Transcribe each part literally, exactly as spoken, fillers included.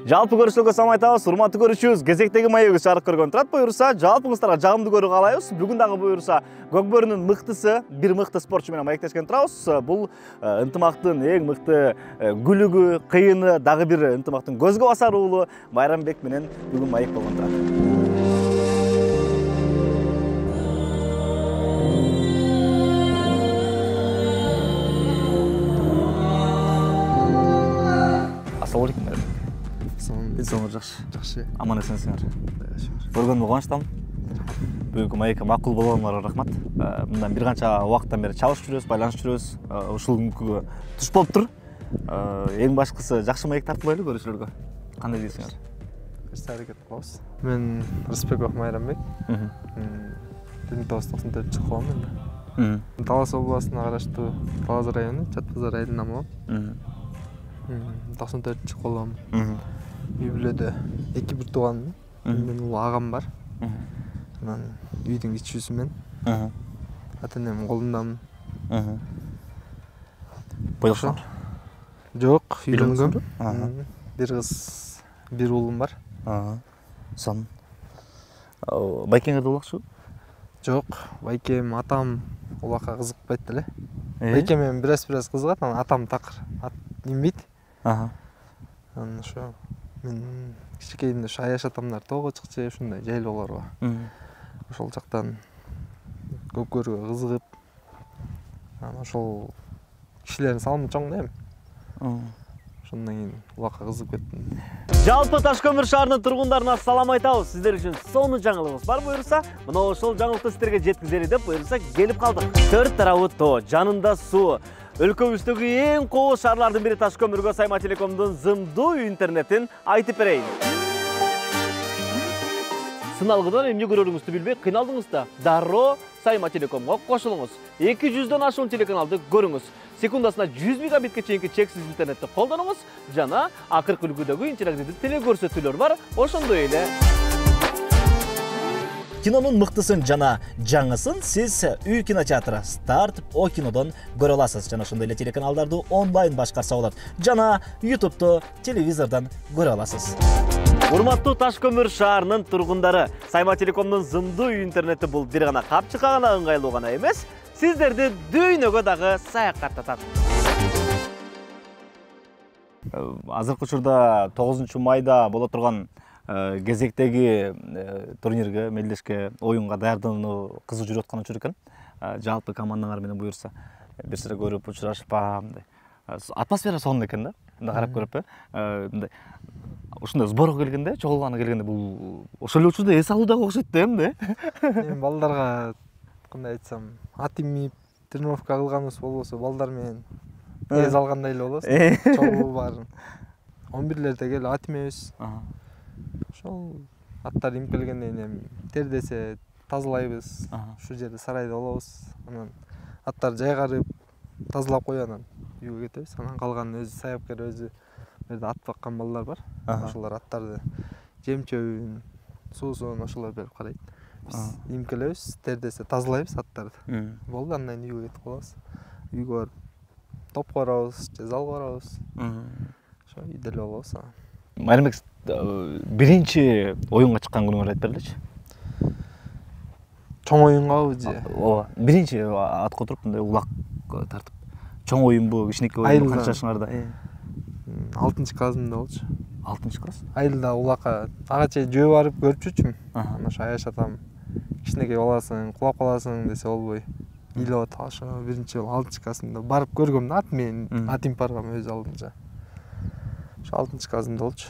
Жалпы көрүүчүлөргө салам айтабыз. Урматтуу көрүүчүбүз, кезектеги маегибиз чыгарып көргөн турат буюрса, жалпыңыздарга жагымдуу көрүү каалайбыз. Бүгүн дагы буюрса, Көкбөрүнүн мыктысы, бир мыкты спортчу менен маектешкен турабыз. Бул ынтымактын эң мыкты күлүгү, кыйыны, дагы бир ынтымактын көзгө басар уулу Майрамбек менен бүгүн маек болгон турат. Assalamu alaikum. Денсаулыгыңыз жакшы? Жакшы. Аман эсенсиңер? Көргөнүмө кубанычтамын. Бүгүнкү маекке макул болгонуңарга рахмат. Мындан бир канча убакыттан бери чалышып жүрөбүз, байланышып жүрөбүз. Ушул күнгө туш болуп тур. Эң башкысы жакшы маек тартылайлы көрүүчүлөргө. Кандай дейсиңер? Бир аракет кылабыз. Мен Рыспеков Майрамбек. бир миң тогуз жүз токсон төртүнчү жылы туулган мен. Талас областына караштуу Талас району, Чат базар айылынан болом. токсон төртүнчү жылы колгом. Үй бүлөдө эки бир тууган, менин улуу агам бар. Анан үйдүн кичүүсү мен. Ата энем колундамын. Бойлошоңор? Жок, үйлөнгөм. Бир кыз, бир уулум бар. Сон. Байкеңерде улакчыбы? Жок, байкем, атам улакка кызыкпайт деле. Байкем менен бираз-бираз кызыгат, анан атам такыр имбейт. Анан ошо мен кичинекейимде ушу аяш атамдар тоого чыкчу, ушундай жайлоолорго. Ошол жактан көп көрүүгө кызыгып, анан ошол кишилердин салымы чоң да эми. Ошондон кийин улакка кызыгып кеттим. Жалпы Таш көмүр шаарынын тургундарына салам айтабыз. Сиздер үчүн сонун жаңылыгыбыз бар буюрса, мына ошол жаңылыкты сиздерге жеткизели деп буюрса келип калдык. Төрт тарабы тоо, жанында суу. Өлкөбүздөгү эң кооз шаарлардын бири Таш көмүргө Сайма Телекомдун зымдуу интернетин айтып берейин. Сыналгыдан эмне көрөрүңүздү билбей кыйналдыңыз да, дароо Сайма Телекомго кошулуңуз. эки жүздөн ашуун телеканалды көрүңүз. Секундасына жүз мегабитке чейинки чексиз интернетти колдонуңуз жана акыркы үлгүдөгү интерактивдүү телекөрсөтүүлөр бар, ошондой эле. Кинонун мыктысын жана жаңысын сиз Үй кинотеатры Старт О кинодон көрө аласыз. Жана ошондой эле телеканалдарды онлайн башкарса болот. Жана ютубту телевизордон көрө аласыз. Урматтуу Таш көмүр шаарынын тургундары, Сайма Телекомдун зымдуу интернети бул бир гана капчыкка гана ыңгайлуу гана эмес, сиздерди дүйнөгө дагы саякаттатат. Азыркы учурда тогузунчу майда боло турган кезектеги турнирге, мелдешке, оюнга даярдануу кызуу жүрүп аткан учур экен. Жалпы командаңар менен буюрса бир сыра көрүп учурашып, мындай атмосфера сонун экен да. Мындай карап көрүп, мындай ушундай сборго келгенде, чогулганы келгенде бул ошол эле учурда эс алуу дагы окшойт да эмне? Мен балдарга кандай айтсам, ат имип тренировка кылганыбыз болбосо, балдар менен эс алгандай эле болобуз. Чогуу баарын он бирлерде келип ат имебиз. Ошол аттар имкелгенден кийин тердесе тазалайбыз. Ушул жерде сарайда болобуз. Анан аттар жайгарып, тазалап коюп анан үйгө кетебиз. Анан калган өзү саяпкер, өзү жерде ат баккан балдар бар. Ошолор аттарды жем-чөбүн, суусун ошолор берип карайт. Биз имкелебиз, тердесе тазалайбыз аттарды. Болду, андан кийин үйгө кетип калабыз. Үйгө барып топко барабыз, же залга барабыз. Ошо үйдө эле болобуз. Майрамбек, биринчи оюнга чыккан күнүңөрдү айтып бергилечи. Чоң оюнгабы же? Ооба, биринчи атка отуруп мындай улак тартып. Чоң оюнбу, кичинекей оюнбу, канча жашыңарда? алтынчы классымда болчу. алтынчы класс? Айылда улакка ага чейин жөө барып көрүп жүрчүмүн. Анан ошо аяш атам кичинекей баласың, кулап каласың десе болбой. Илеп атып, ошо биринчи жолу алтынчы классымда барып көргөм да, ат менен ат имип баргам өз алдынча. Ошо алтынчы классымда болчу.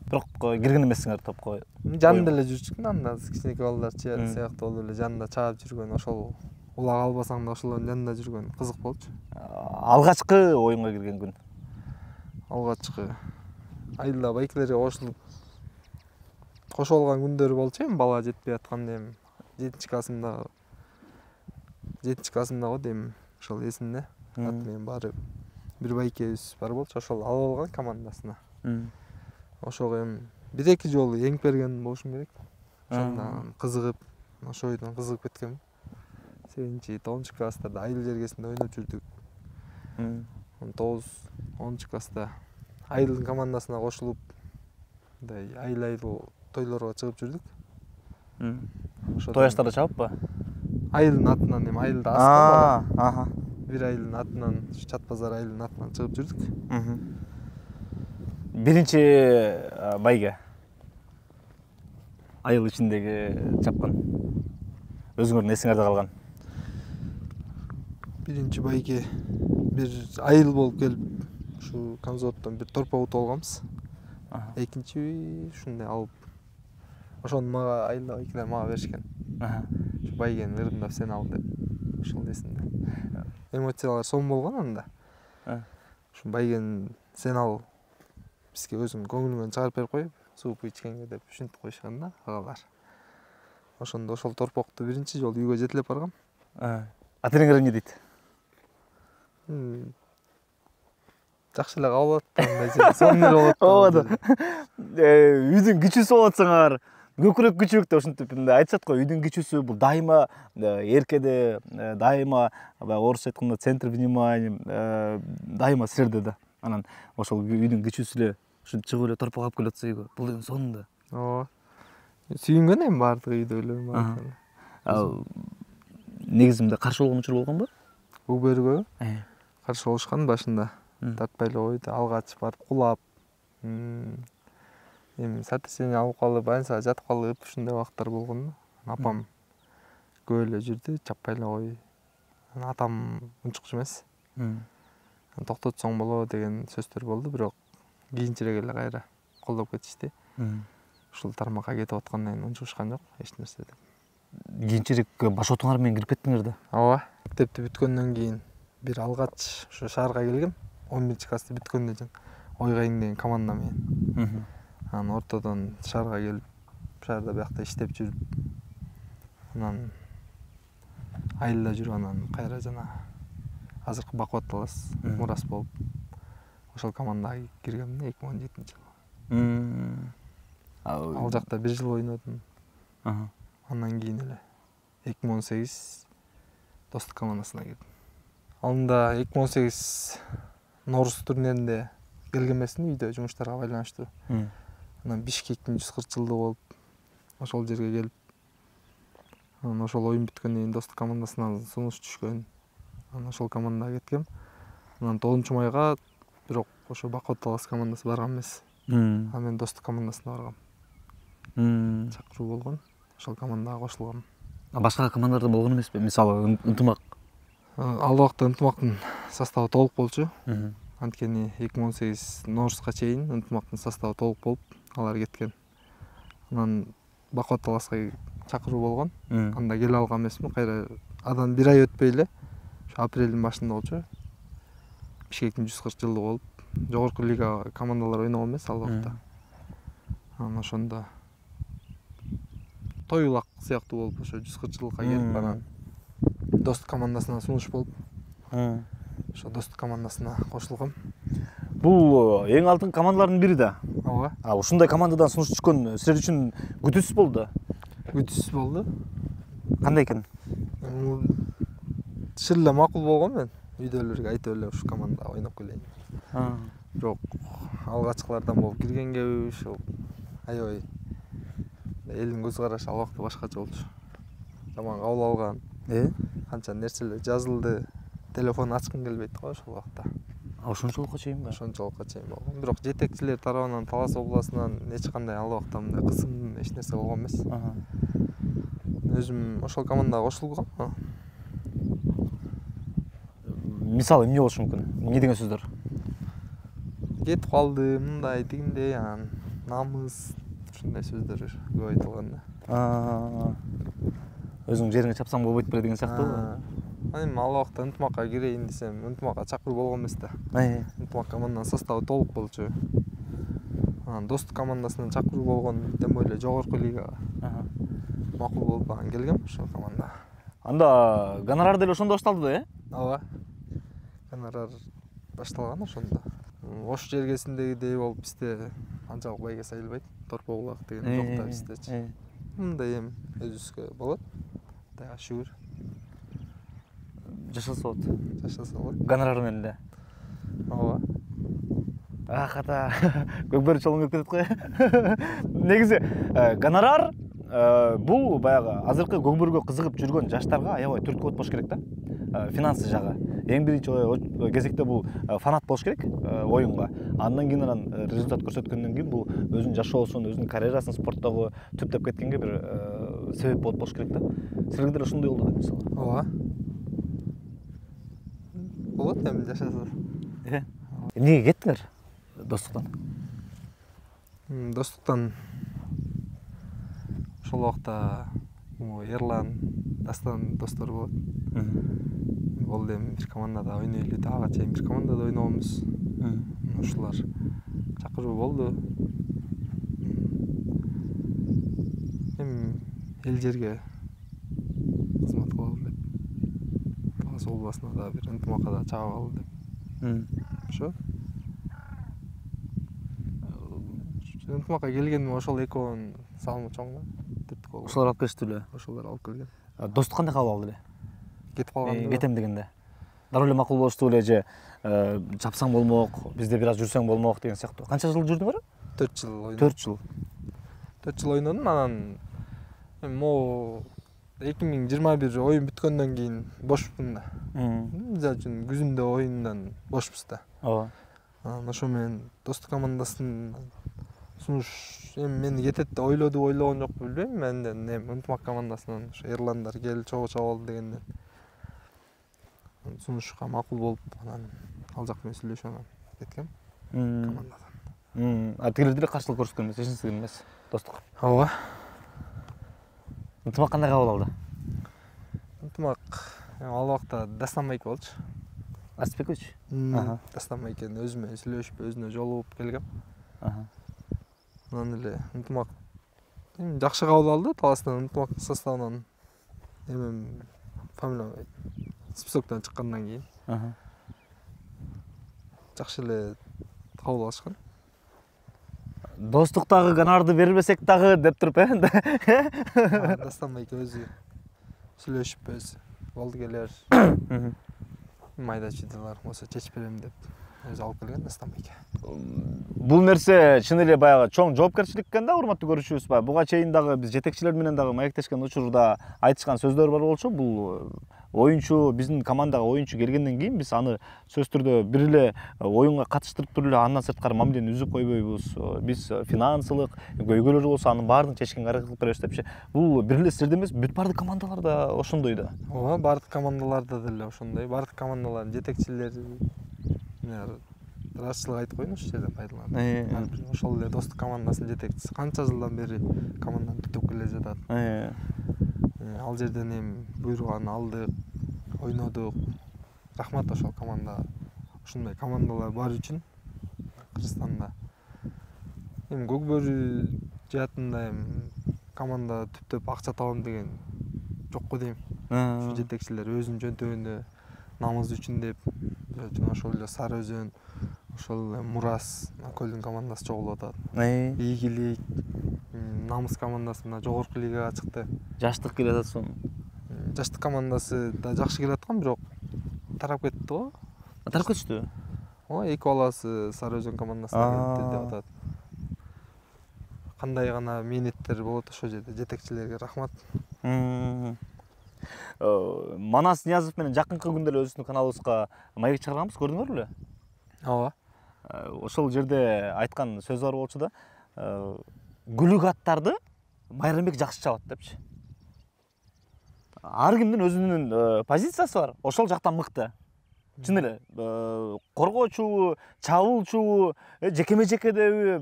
Бирок кирген эмессиңер топко. Жанында эле жүрчүк да, анда кичинекей балдар сыяктуу болуп эле жанында чаап жүргөн, ошол улак албасаң да ошолордун жанында жүргөн кызык болчу. Алгачкы оюнга кирген күн? Алгачкы айылда байкелерге кошулуп кошуп алган күндөрү болчу эми, бала жетпей атканда эми жетинчи классымда жетинчи классымда го дейм, ошол эсимде. Ат менен барып бир байкебиз бар болчу, ошол алып алган командасына. Ошого эми бир эки жолу эңип берген болушум керек. Ошондон кызыгып, ошо ойдон кызыгып кеткем. сегизинчи, тогузунчу класстарда айыл жергесинде ойноп жүрдүк. он тогуз, онунчу класста айылдын командасына кошулуп мындай айыл айыл тойлорго чыгып жүрдүк. Той аштарда чабыппы? Айылдын атынан эми айылда аска Аха. бир айылдын атынан, Чат базар айылдын атынан чыгып жүрдүк. Биринчи байге айыл ичиндеги чапкан өзүңөрдүн эсиңерде калган? Биринчи байге бир айыл болуп келип, ушу Камзоттон бир торпок утуп алганбыз. Экинчи ушундай алып, ошону мага айылда байкелер мага беришкен. Ушу байгени ырымдап сен ал деп, ошол эсимде. Эмоциялар сом болгон анда. Ушу байгени сен ал, бизге өзүң көңүлүңөн чыгарып берип коюп, сууп ичкенге деп ушинтип коюшкан да агалар. Ошондо ошол торпокту биринчи жолу үйгө жетелеп баргам. Ата энеңер эмне дейт? Жакшы эле кабыл атат, сонун эле болот. Үйдүн кичүүсү болуп атсаңар, көкүрөк күчүрөк деп ушинтип мындай айтышат го. Үйдүн кичүүсү бул дайыма эркеде, дайыма баягы орусча айтканда центр внимания, дайыма силерде да. Анан ошол үйдүн кичүүсү эле ушинтип чыгып эле торпок алып келип атса үйгө, бул эми сонун да. Ооба. Сүйүнгөн эми баардык үйдөгүлөр бар. Ал негизи мындай каршы болгон учур болгонбу? У берүүгө каршы болушкан башында. Тартпай эле койду, алгач барып кулап. Эми сотрясение алып калып, больницага жатып калып, ушундай убактар болгон. Апам көп эле жүрдү, чаппай эле кой. Атам унчукчу эмес. Токтотсоң болот деген сөздөр болду, бирок кийинчерээк эле кайра колдоп кетишти. Ушул тармакка кетип аткандан кийин унчукушкан жок эч нерсе деп. Кийинчерээк башотуңар менен кирип кеттиңер да. Ооба. Мектепти бүткөндөн кийин бир алгач ушу шаарга келгем. он биринчи классты бүткөндө жөн Ойгайың деген команда менен. Анан ортодон шаарга келип, шаарда биякта иштеп жүрүп, анан айылда жүрүп, анан кайра жана азыркы Бакубат Талас мурас болуп, ошол командага киргем эки миң он жетинчи жылы. Ал жакта бир жыл ойнодум. Андан кийин эле эки миң он сегиз Достук командасына кирдим. Анда эки миң он сегиз Норус турниринде келген эмесмин, үйдө жумуштарга байланыштуу. Анан Бишкектин жүз кырк жылдыгы болуп, ошол жерге келип, анан ошол оюн бүткөндөн кийин Достук командасынан сунуш түшкөн. Анан ошол командага кеткем. Анан тогузунчу майга бирок ошо Бакубат Талас командасы барган эмес. Анан мен Достук командасына баргам. Чакыруу болгон. Ошол командага кошулгам. Башка командаларда болгон эмеспи? Мисалы, Ынтымак. Ал убакта Ынтымактын составы толук болчу. Анткени эки миң он сегиз Норуска чейин Ынтымактын составы толук болуп, алар кеткен. Анан Бакубат Таласка чакыруу болгон. Анда келе алган эмесмин. Кайра адан бир ай өтпөй эле, ошо апрелдин башында болчу. Бишкектин жүз кырк жылдыгы болуп, жогорку лига командалар ойногон эмес ал убакта. Анан ошондо тойлак сыяктуу болуп, ошо жүз кырк жылдыкка келип, анан Достук командасына сунуш болуп, ошо Достук командасына кошулгам. Бул эң алдыңкы командалардын бири да. Ооба. А ушундай командадан сунуш түшкөн силер үчүн күтүүсүз болду да. Күтүүсүз болду. Кандай экен? Чыр эле макул болгон мен. Үйдөлөргө айтып эле ушу командага ойноп келейин. Бирок алгачкылардан болуп киргенгеби, ушул аябай элдин көз карашы ал убакта башкача болчу. Жаман кабыл алган. Э? Канча нерселер жазылды. Телефон ачкым келбейт го ошол убакта. А ошончолукка чейинби? Ошончолукка чейин болгон. Бирок жетекчилер тарабынан, Талас областынан эч кандай ал убакта мындай кысым эч нерсе болгон эмес. Өзүм ошол командага кошулгам. Мисалы эмне болушу мүмкүн? Эмне деген сөздөр? Кетип калды, мындай, тигиндей, анан намыс, ушундай сөздөр көп айтылган да. Өзүң жериңе чапсаң болбойт беле деген сыяктуу. Эми ал убакта Ынтымакка кирейин десем, Ынтымакка чакыруу болгон эмес да. Ынтымак команданын составы толук болчу. Анан Достук командасынан чакыруу болгон, тем более жогорку лигага. Макул болуп анан келгем ошол командага. Анда гонорар деле ошондо башталды да, э? Ооба. Гонорар башталган ошондо. Ош жергесиндегидей болуп бизде анчалык байге сайылбайт. Торпок улак деген жок да биздечи. Мындай эми өзүбүзгө болот. Кудайга шүгүр. Жашаса болот. Жашаса болот. Гонорар менен эле. Ооба. Аката көкбөрү чолуң келип кетет го. Негизи гонорар бул баягы азыркы көкбөрүгө кызыгып жүргөн жаштарга аябай түрткү болуш керек да. Финансы жагы. Эң биринчи кезекте бул фанат болуш керек оюнга. Андан кийин анан результат көрсөткөндөн кийин бул өзүнүн жашоосун, өзүнүн карьерасын спорттогу түптөп кеткенге бир себеп болуп болуш керек да. Силерге деле ошондой болду да мисалы. Ооба. Болот эми жашаса. Э. Эмнеге кеттиңер достуктан? Достуктан ошол убакта Эрлан, Дастан достор болот. Болду эми бир командада ойнойлу деп ага чейин бир командада ойногонбуз. Ушулар чакыруу болду. Эми эл жерге кызмат кылалы деп. Талас областына да бир ынтымакка да чыгып алалы деп. Ошо. Ынтымакка келгеним ошол экөөнүн салымы чоң да. Ошолор алып келишти эле. Ошолор алып келген. Достук кандай кабыл алды эле? Кетип калганда. Кетем дегенде. Дароо эле макул болушту эле же чапсаң болмок, бизде бир аз жүрсөң болмок деген сыяктуу. Канча жыл жүрдүңөр? төрт жыл ойнодум. төрт жыл. төрт жыл ойнодум, анан эми могу эки миң жыйырма бир оюн бүткөндөн кийин бошпун да. Мисалы үчүн күзүндө оюндан бошпуз да. Ооба. Анан ошо менен достук командасынын сунуш эми мени кетет деп ойлоду, ойлогон жокпу билбейм. Менден эми ынтымак командасынан ошо Эрландар кел чогуу чабалы дегенден сунушка макул болуп, анан ал жак менен сүйлөшүп анан кеткем командадан. А тигилер деле каршылык көрсөткөн эмес, эч нерсе эмес, достук. Ооба. Ынтымак кандай кабыл алды? Ынтымак ал убакта Дастан байке болчу. Астбекович? Дастан байкени өзү менен сүйлөшүп, өзүнө жолугуп келгем. Анан эле ынтымак эми жакшы кабыл алды. Таластын ынтымак составынан эми фамилия списоктон чыккандан кийин жакшы эле кабыл алышкан. Достуктагы гонорарды бербесек дагы деп туруп, э? Дастан байке өзү сүйлөшүп өзү болду келер. Майда чыдалар болсо чечип берем деп өзү алып келген Дастан байке. Бул нерсе чын эле баягы чоң жоопкерчилик экен да, урматтуу көрүүчүбүз. Буга чейин дагы биз жетекчилер менен дагы маектешкен учурда айтышкан сөздөр бар болчу. Бул оюнчу, биздин командага оюнчу келгенден кийин биз аны сөзсүз түрдө бир эле оюнга катыштырып туруп эле андан сырткары мамилени үзүп койбойбуз. Биз финансылык көйгөйлөр болсо анын баарын чечкенге аракет кылып беребиз депчи. Бул бир эле силерде эмес, бүт бардык командаларда ошондой да. Ооба, бардык командаларда деле ошондой. Бардык командалардын жетекчилери ырасчылык айтып коеюн ушул жерден пайдаланып. Ошол эле достук командасынын жетекчиси канча жылдан бери команданы түтүп келе жатат. Ал жерден эми буйруган алдык, ойнодук. Рахмат ошол командага. Ушундай командалар бар үчүн Кыргызстанда. Эми көкбөрү жаатында эми команда түптөп акча табам деген жокко дейм. Ушу жетекчилер өзүнүн жөнтөгүндө намыз үчүн деп, ошол эле Сары Өзөн, ошол эле Мурас, Көлдүн командасы чогулуп атат. Ийгилик, намыс командасына жогорку лигага чыкты. Жаштык келе атат сонун. Жаштык командасы да жакшы келе аткан, бирок тарап кетти го. Тарап кетишти? Ооба, эки баласы Сары Өзөн командасына кетти деп атат. Кандай гана мээнеттер болот ошол жерде, жетекчилерге рахмат. Манас Ниязов менен жакынкы күндө эле өзүбүздүн каналыбызга маек чыгарганбыз, көрдүңөр беле? Ооба. Ошол жерде айткан сөзү бар болчу да. Гүлүк аттарды Майрамбек жакшы чабат депчи. Ар кимдин өзүнүн позициясы бар. Ошол жактан мыкты. Чын эле коргоочубу, чабуулчубу, жекеме-жекедеби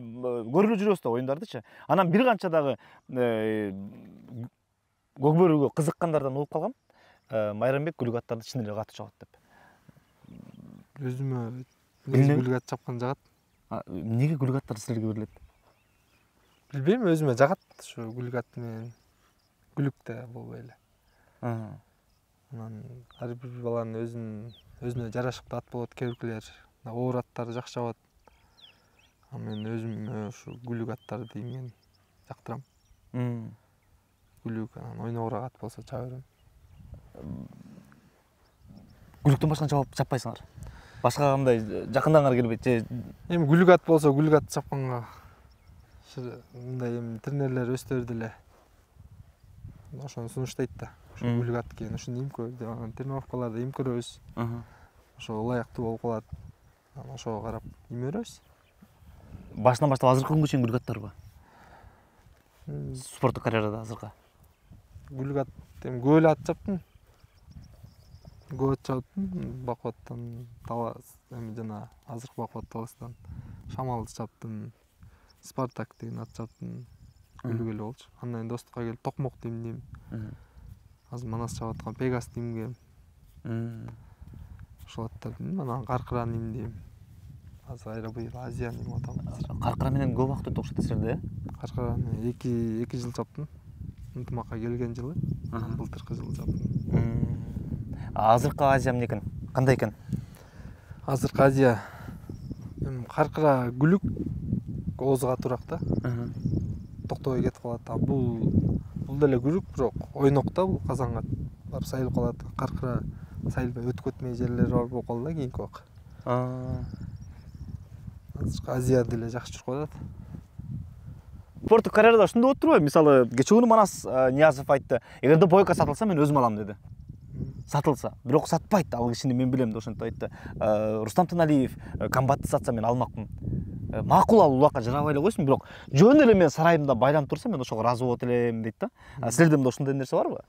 көрүлүп жүрөбүз да оюндардычы. Анан бир канча дагы көкбөрүгө кызыккандардан угуп калгам. Майрамбек гүлүк аттарды чын эле катуу чабат деп. Өзүмө гүлүк ат чапкан жагат. Эмнеге гүлүк аттар силерге берилет? Билбейм, өзүмө жагат ушу гүлүк ат менен. Гүлүк да болбой эле. Анан ар бир баланын өзүнүн өзүнө жарашыктуу ат болот, кээ биркилер оор аттарды жакшы чабат. А мен өзүмө ушу гүлүк аттарды мен жактырам. Гүлүк анан ойногураак ат болсо чаба берем. Гүлүктөн башканы чаппайсыңар? Башка кандай жакындагыңар келбейт же? Эми гүлгат болсо гүлгат чапканга мындай эми тренерлер өздөрү деле ошону сунуштайт да. Ошо гүлгат экен, ушуну имкөө деп анан тренировкаларда имкөрөбүз. Ошо ылайыктуу болуп калат. Анан ошого карап имөрөбүз. Башынан баштап азыркы күнгө чейин гүлгаттарбы? Спорттук карьерада азыркы. Гүлгат эми көп эле ат чаптым. Көп ат чаптым. Бакубаттан Талас эми жана азыркы Бакубат Таластан Шамалды чаптым. Спартак деген ат чаптым. Күлүгү эле болчу. Андан кийин достукка келип Токмокду имдим. Азыр Манас чабып аткан Пегасты имгем. Ошол аттарды имдим. Анан Каркыраны имдим. Азыр айра быйыл Азияны имип атам. Каркыра менен көп убакыт өтүп окшойт силерде, э? Каркыраны эки эки жыл чаптым. Ынтымакка келген жылы. Былтыркы жылы чаптым. Азыркы Азия эмне экен? Кандай экен? Азыркы Азия эми Каркыра күлүк оозуга турак да. Токтобой кетип калат. А бул бул деле күлүк, бирок ойнок да, бул казанга барып сайылып калат. Каркыра сайылбай өтүп кетмей жерлери бар болуп калды да кийинки убак. Азыркы Азия деле жакшы жүрүп атат. Спорттук карьерада ушундай болуп турбайбы? Мисалы, кечээ күнү Манас Ниязов айтты, эгерде бойка сатылса мен өзүм алам деди. Сатылса, бирок сатпайт, ал кишини мен билем деп ошентип айтты. Рустам Таналиев комбатты сатса мен алмакмын. Макул, ал улакка жарабай эле койсун, бирок жөн эле мен сарайымда байланып турса мен ошого ыраазы болот элем дейт да. Силерде мында ошондой нерсе барбы?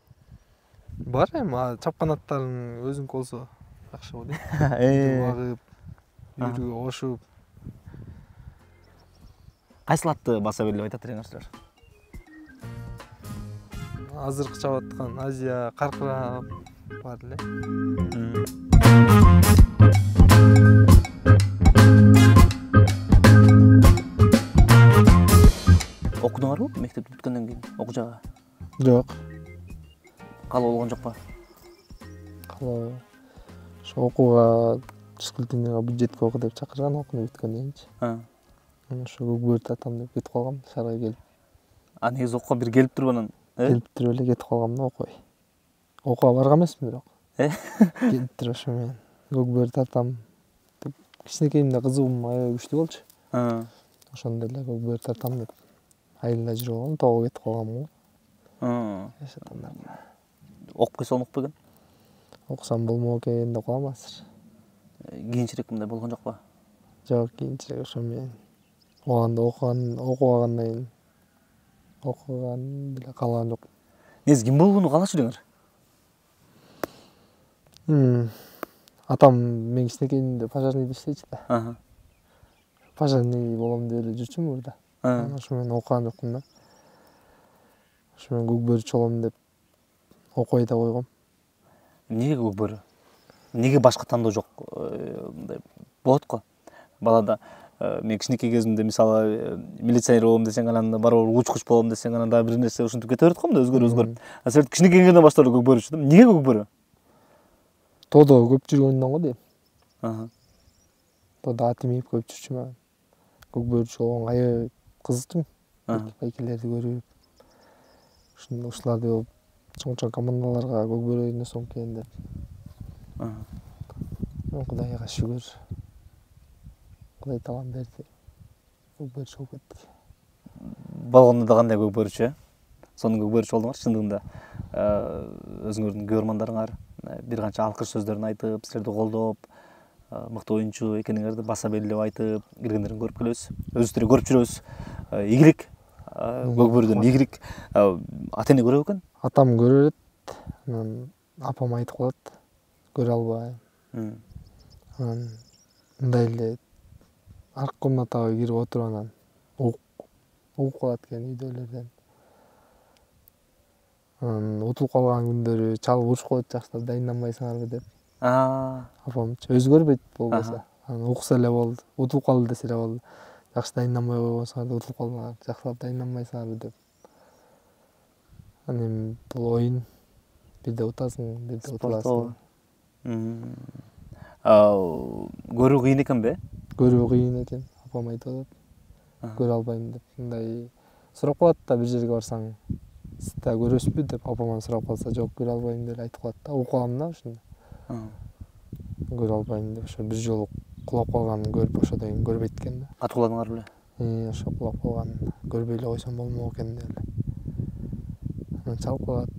Бар эми, чапкан аттарың өзүңкү болсо жакшы болот э. Багып, үйрүгө кошуп. Кайсыл атты баса бер деп айтат элеңер силер? Азыркы чабып аткан Азия, Каркыра бар эле. Окудуңарбы мектепти бүткөндөн кийин окуу жагы? Жок. Калуу болгон жокпу? Калуу. Ошо окууга физкультурныйга бюджетке оку деп чакырган окууну бүткөндөн кийинчи. Анан ошо көкбөрү тартам деп кетип калгам шаарга келип. А негизи окууга бир келип туруп анан, э? Келип туруп эле кетип калгам да окубай. Окууга барган эмесмин бирок. Э? Келип туруп ошо менен көкбөрү тартам деп кичинекейимде кызыгуум аябай күчтүү болчу. Ошондо эле көкбөрү тартам деп айылда жүрүп алгам, тоого кетип калгам го. Окуп койсо болмок белген? Окусам болмок экен деп калам азыр. Кийинчерээк мындай болгон жокпу? Жок, кийинчерээк ошо менен ооганда окуган, окугандан кийин окуган деле каалаган жокмун. Негизи ким болууну каалачу элеңер? Атам мен кичинекейимде пожарныйда иштечү да. Пожарный болом деп эле жүрчүмүн мурда. Ошо менен окуган жокмун да. Ошо менен көкбөрүчү болом деп окубай да койгом. Эмнеге көкбөрү? Эмнеге башка тандоо жок? Мындай болот го. Балада мен кичинекей кезимде мисалы милиционер болом десең, анан барып учкуч болом десең, анан дагы бир нерсе ушинтип кете берет го мында өзгөрүп өзгөрүп. А силер кичинекей кезиңерден баштап эле көкбөрүчү да. Эмнеге көкбөрү? Тодо көп жүргөндөн го дейм. Тодо ат имип көп жүрчүмүн анан. Көкбөрүчү болгонго аябай кызыктым. Байкелерди көрүп, ушундай ушуларды чоң чоң командаларга көкбөрү ойносом экен деп. Кудайга шүгүр. Кудай таалам берди. Көкбөрүчү болуп кеттик. Болгондо да кандай көкбөрүчү, э? Сонун көкбөрүчү болдуңар чындыгында. Өзүңөрдүн көрөрмандарыңар бир канча алкыш сөздөрүн айтып, силерди колдоп, мыкты оюнчу экениңерди баса белгилеп айтып, киргендерин көрүп келебиз. Өзүбүз көрүп жүрөбүз. Игилик, көкбөрүдөн игилик. Ата эне көрөбү экен? Атам көрөт, анан апам айтып калат, көрө албайм. Анан мындай эле аркы комнатага кирип отуруп анан угуп калат экен үйдөлөрдөн. Анан утулуп калган күндөрү чалып урушуп коет, жакшылап дайынданбайсыңарбы деп. Апамчы өзү көрбөйт болбосо. Анан укса эле болду. Утулуп калды десе эле болду. Жакшы дайынданбай койбосуңар, утулуп калдыңар, жакшылап дайынданбайсыңарбы деп. Анан бул оюн, бирде утасың, бирде утуласың. Көрүү кыйын экенби? Көрүү кыйын экен, апам айтып атат. Көрө албайм деп. Мындай сурап калат да, бир жерге барсаң, сиз да көрөсүзбү деп апаман сурап калса, жок көрө албайм деп айтып калат да. Угуп калам да ушуну. көрө албайм деп ошо бир жолу кулап калганын көрүп ошодон кийин көрбөйт экен да. Катуу куладыңар беле? Э, ошо кулап калганын көрбөй эле койсом болмок экен деп эле. Анан чалып калат.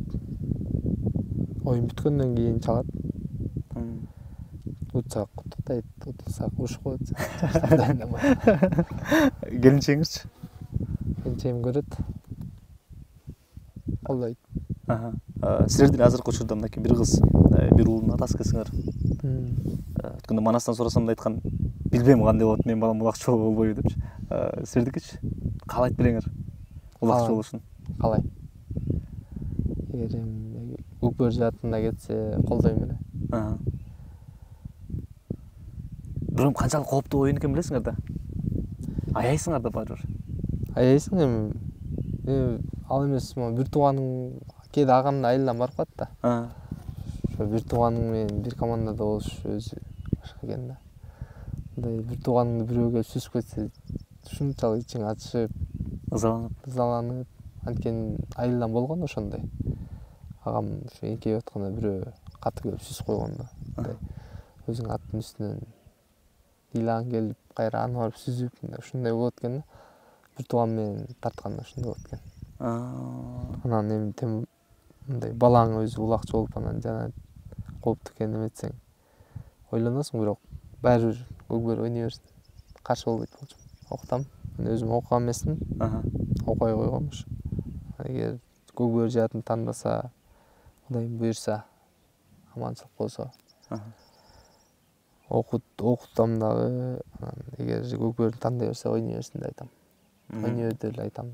Оюн бүткөндөн кийин чалат. Утсак куттуктайт, утсак урушуп коет. Келинчегиңизчи? Келинчегим көрөт. Колдойт. Силердин азыркы учурда мынакей бир кыз, бир уулдун атасы экенсиңер. Өткөндө Манастан сурасам да айткан, билбейм кандай болот, менин балам улакчы болобу болбойбу депчи. Силердикичи? Каалайт белеңер улакчы болушун? Каалайм. Эгер эми көкбөр жаатында кетсе колдойм эле. Бирок канчалык кооптуу оюн экенин билесиңер да. Аяйсыңар да баары бир. Аяйсың эми. Эми ал эмес, бир тууганың кээде агамдын айылынан барып калат да. Ошо бир тууганың менен бир командада болуш өзү башка экен да. Мындай бир тууганыңды бирөө келип сүзүп кетсе, ушунчалык ичиң ачышып, ызаланып, ызаланып, анткени айылдан болгон ошондой. Агам ошо эңкейип атканда бирөө каты келип сүзүп койгон да. Мындай өзүң аттын үстүнөн ыйлаң келип, кайра аны барып сүзүп, ушундай болот экен да. Бир тууган менен тартканда ушундай болот экен. Анан эми тем мындай балаң өзү улакчы болуп анан жана кооптуу экенин эметсең ойлоносуң, бирок баары бир көкбөр ойной берсин. Каршы болбойт болчумун. Окутам. Мен өзүм окуган эмесмин. Окуй койгом ушу. Эгер көкбөр жаатын тандаса, Кудайым буйрса, аманчылык болсо, окут окутам дагы. Анан эгер көкбөрдү тандай берсе, ойной берсин деп айтам. Ойной бер деп эле айтам.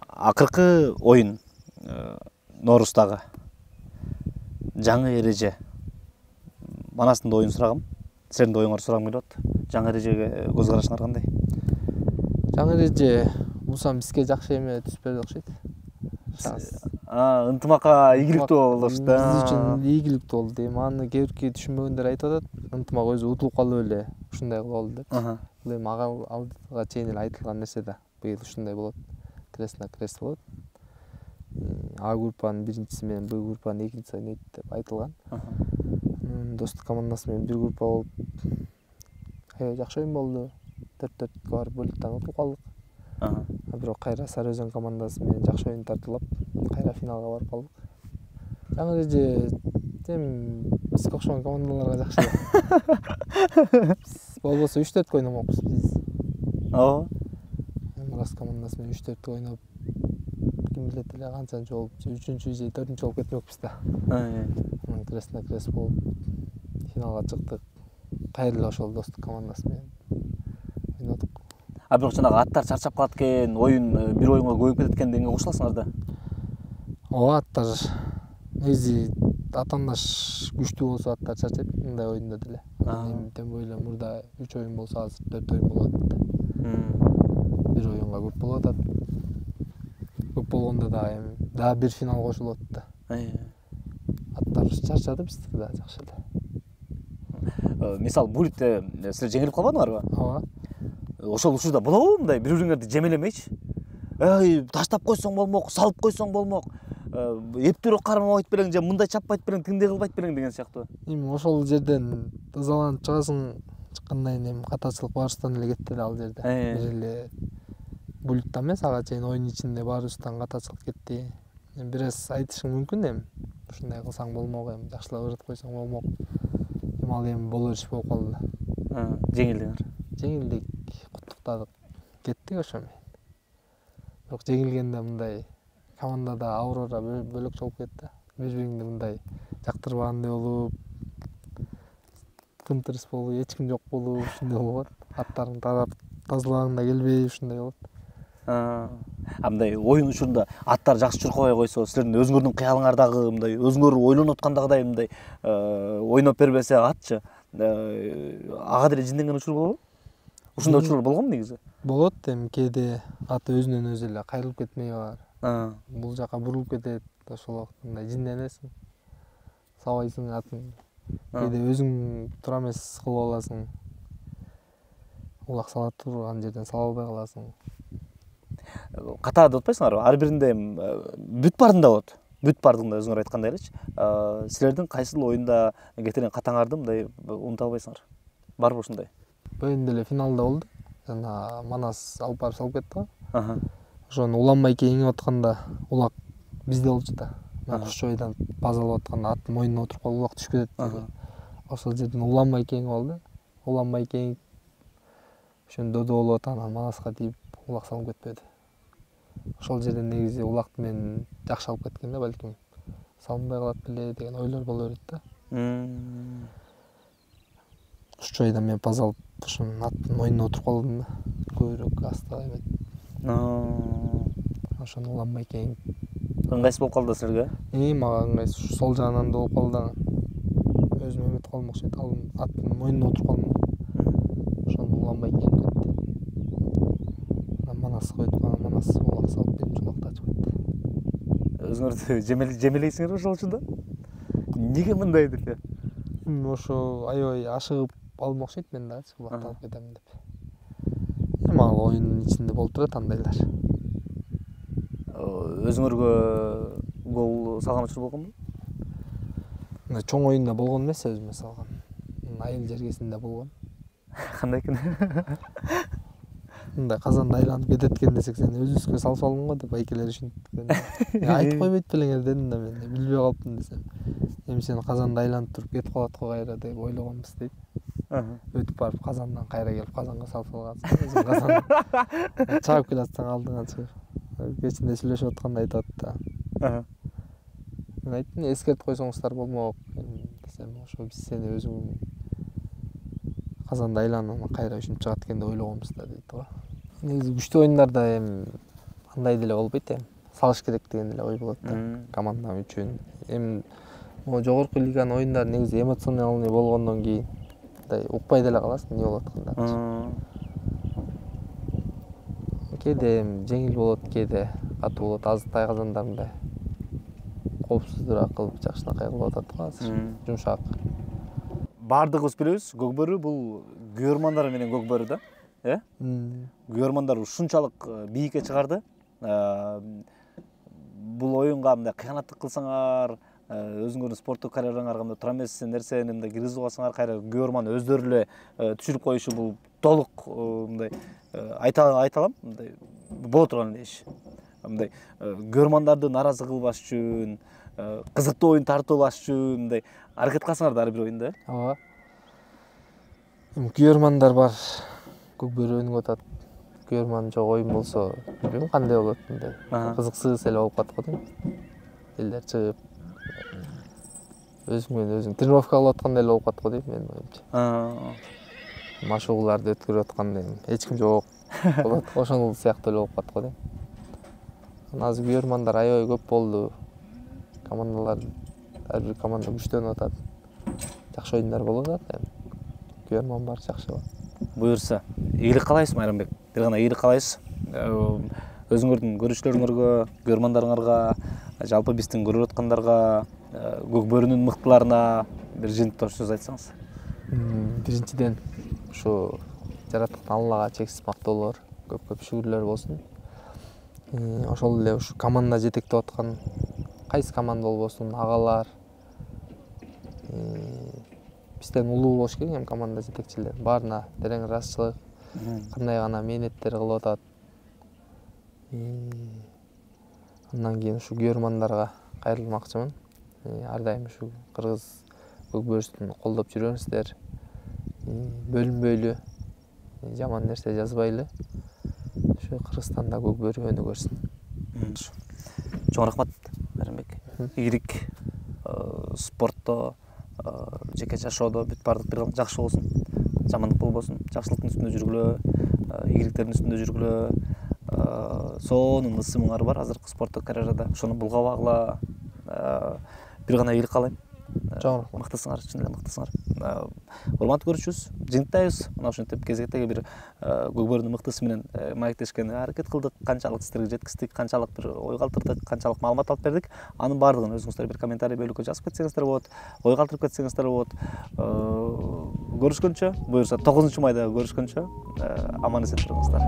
Акыркы оюн Норуздагы жаңы эреже. Манастын да оюн сурагам. Силердин да оюңарды сурагым келип атат. Жаңы эрежеге көз карашыңар кандай? Жаңы эреже булсам бизге жакшы эме түспөдү окшойт. Ынтымакка ийгиликтүү болуш да. Биз үчүн ийгиликтүү болду. Эми аны кээ бирки түшүнбөгөндөр айтып атат. Ынтымак өзү утулуп калып эле ушундай кылалы деп. Бул эми ага алдыга чейин эле айтылган нерсе да. Быйыл ушундай болот. Крест на крест болот. А группанын биринчиси менен Б группанын экинчиси ойнойт деп айтылган. Достук командасы менен бир группа болуп, аябай жакшы оюн болду. төрт-төрткө барып бөлүктөн утулуп калдык. Бирок кайра Сары Өзөн командасы менен жакшы оюн тартуулап, кайра финалга барып калдык. Жаңы эреже эми бизге окшогон командаларга жакшы. Болбосо үч-төрткө ойномокпуз биз. Ооба. Мурас командасы менен үч-төрткө ойноп, ким билет эле канчанчы болуп, үчүнчү же төртүнчү болуп кетмекпиз да. Анан крест на крест болуп финалга чыктык. Кайра эле ошол достук командасы менен ойнодук. А бирок жанагы аттар чарчап калат экен, оюн бир оюнга көбөйүп кетет экен дегенге кошуласыңар да. Ооба, аттар негизи атаандаш күчтүү болсо аттар чарчайт мындай оюнда деле. Эми тем более мурда үч оюн болсо азыр төрт оюн болуп атат. Бир оюнга көп болуп атат. Көп болгондо дагы эми дагы бир финал кошулуп атат да. Аттар чарчады биздики да жакшы эле. Мисалы булитте силер жеңилип калбадыңарбы? Ооба. Ошол учурда болобу мындай бири-бириңерди жемелемейчи? Эй, таштап койсоң болмок, салып койсоң болмок. Эптүүрөөк кармабайт белең же мындай чаппайт белең, тиңдей кылбайт белең деген сыяктуу. Эми ошол жерден ызаланып чыгасың, чыккандан кийин эми катачылык баарыбыздан эле кетти да ал жерде. Бир эле булитта эмес, ага чейин оюн ичинде баарыбыздан катачылык кетти. Эми бир аз айтышың мүмкүн эми. Ушундай кылсаң болмок, эми жакшылап ырдып койсоң болмок. Эми ал эми боло бериш болуп калды да. Жеңилдиңер. Жеңилдик, куттуктадык, кеттик ошо менен. Бирок жеңилгенде мындай командада аурора бөлөкчө болуп кетти. Бири-бириңди мындай жактырбагандай болуп, тымтырыс болуп, эч ким жок болуп, ушундай болот. Аттарың тарап, тазалагың да келбей ушундай болот. А мындай оюн учурунда аттар жакшы чуркабай койсо, силердин өзүңөрдүн кыялыңардагы мындай өзүңөр ойлонуп аткандагыдай мындай ойноп бербесе атчы, ага деле жинденген учур болобу? Ушундай учурлар болгонбу негизи? Болот, эми кээде ат өзүнөн өзү эле кайрылып кетмей бар. Бул жака бурулуп кетет, ошол убакта мындай жинденесиң. Сабайсың атын. Кээде өзүң туура эмес кылып аласың. Улак сала турган жерден сала албай каласың. Катаа деп атпайсыңарбы? Ар биринде бүт баарында болот. бүт бардыгында өзүңөр айткандай элечи. Силердин кайсыл оюнда кетирен катаңарды мындай унута албайсыңар? Барбы ушундай? Бөйүндө эле финалда болду. Жана Манас алып барып салып кетти го. Аха. Ошону уланбай кийинип атканда улак бизде болчу да. Кушчойдон баз алып атканда аттын мойнуна отуруп калып улак түшүп кетти. Ошол жерден уланбай кийинип алды. Уланбай кийинип ошону додо болуп атат, анан Манаска тийип улак салып кетпеди. Ошол жерден негизи улакты мен жакшы алып кеткен да, балким салынбай калат беле деген ойлор боло берет да. Кушчойдон мен баз алып ошонун аттын мойнуна отуруп калдым да. Көбүрөөк астыга эметип. Ошону уланбай кийинип. Ыңгайсыз болуп калды силерге? И мага ыңгайсыз. Сол жагынан да болуп калды. Өзүм эметип калдым окшойт. Ал аттын мойнуна отуруп калдым. Ошону уланбай кийинип кетти. Анан Манаска өтүп калган, Манас улак салып берип улакты ачып кетти. Өзүңөрдү жемелейсиңерби ошол учурда? Эмнеге мындай деп? Ошо аябай ашыгып алдым окшойт мен дагычы улакты алып кетемин деп. Эми ал оюндун ичинде болуп турат андайлар. Өзүңөргө гол салган учур болгонбу? Мына чоң оюнда болгон эмес, өзүмө салган. Айыл жергесинде болгон. Кандай экен? Мындай казанда айланып кетет экен десек, сен өзүбүзгө салып алдың го деп айкелер ушинткен. Айтып койбойт белеңер дедим да мен, билбей калыптым десем. Эми сен казанда айланып туруп кетип калат го кайра деп ойлогонбуз дейт. Өтүп барып казандан кайра келип казанга салып салгансың. Өзүң казан чаап келатсаң алдыңа чыгып. Кечинде сүйлөшүп атканда айтып атты. Мен айттым, эскертип койсоңуздар болмок десем, ошо биз сени өзүң казанда айланып кайра ушинтип чыгат экен деп ойлогонбуз да дейт го. Негизи күчтүү оюндарда эми андай деле болбойт эми. Салыш керек деген эле ой болот да команда үчүн. Эми могу жогорку лиганын оюндары негизи эмоциональный болгондон кийин мындай укпай деле каласың эмне болуп атканын. Кээде жеңил болот, кээде катуу болот. Азыр тайказандар мындай коопсуздураак кылып жакшынакай кылып атат го азыр. Жумшак. Бардыгыбыз билебиз, Көкбөрү бул күйөрмандар менен Көкбөрү да, э? Күйөрмандар ушунчалык бийикке чыгарды. Бул оюнга мындай кыянаттык кылсаңар, өзүңөрдүн спорттук карьераңарга мындай тура эмес нерсени мындай киргизип алсаңар, кайра күйөрман өздөрү эле түшүрүп коюшу бул толук мындай айта алам, мындай боло турган иш. Мындай күйөрмандарды нааразы кылбаш үчүн, кызыктуу оюн тартуулаш үчүн мындай аракет кылсаңар да ар бир оюнда. Ооба. Эми күйөрмандар бар. Көкбөрү өнүгүп атат. Күйөрман жок оюн болсо, билбейм кандай болот, мындай кызыксыз эле болуп калат го дейм. Элдер чыгып өзүң менен өзүң тренировка кылып аткандай эле болуп калат го дейм менин оюмча. Машыгууларды өткөрүп аткандай эч ким жок болот. Ошол сыяктуу эле болуп калат го дейм. Азыр күйөрмандар аябай көп болду. Командалар ар бир команда күчтөнүп атат. Жакшы оюндар болуп атат эми. Күйөрман бар, жакшы болот. Буюрса, ийгилик каалайбыз Майрамбек. Бир гана ийгилик каалайбыз. Өзүңөрдүн көрүүчүлөрүңөргө, күйөрмандарыңарга, жалпы биздин көрүп аткандарга, Көкбөрүнүн мыктыларына бир жыйынтыктоо сөз айтсаңыз. Биринчиден, ушу жараткан Аллага чексиз мактоолор, көп-көп шүгүрлөр болсун. Ошол эле ушу команда жетектеп аткан кайсы команда болбосун, агалар бизден улуу болуш керек эми команда жетекчилери. Баарына терең ыраазычылык, кандай гана мээнеттер кылып атат. Андан кийин ушу күйөрмандарга кайрылмакчымын. Ар дайым ушу кыргыз Көкбөрүсүн колдоп жүрүңүздөр. Бөлүнбөйлү, жаман нерсе жазбайлы. Ушу Кыргызстанда Көкбөрү өнүгөрсүн. Чоң рахмат, Майрамбек. Ийгилик спортто, жеке жашоодо бүт баардык бир жакшы болсун. Жамандык болбосун. Жакшылыктын үстүндө жүргүлө, ийгиликтердин үстүндө жүргүлө. Сонун ысымыңар бар азыркы спорттук карьерада. Ошону булгабагыла. Бир гана ийгилик каалайм. Чоң рахмат. Мыктысыңар, чын эле мыктысыңар. Урматтуу көрүүчүбүз, жыйынтыктайбыз. Мына ушинтип кезектеги бир Көкбөрүнүн мыктысы менен маектешкенге аракет кылдык. Канчалык сиздерге жеткиздик, канчалык бир ой калтырдык, канчалык маалымат алып бердик. Анын баардыгын өзүңүздөр бир комментарий бөлүккө жазып кетсеңиздер болот, ой калтырып кетсеңиздер болот. Көрүшкөнчө, буюрса тогузунчу майда көрүшкөнчө, аман эсен туруңуздар.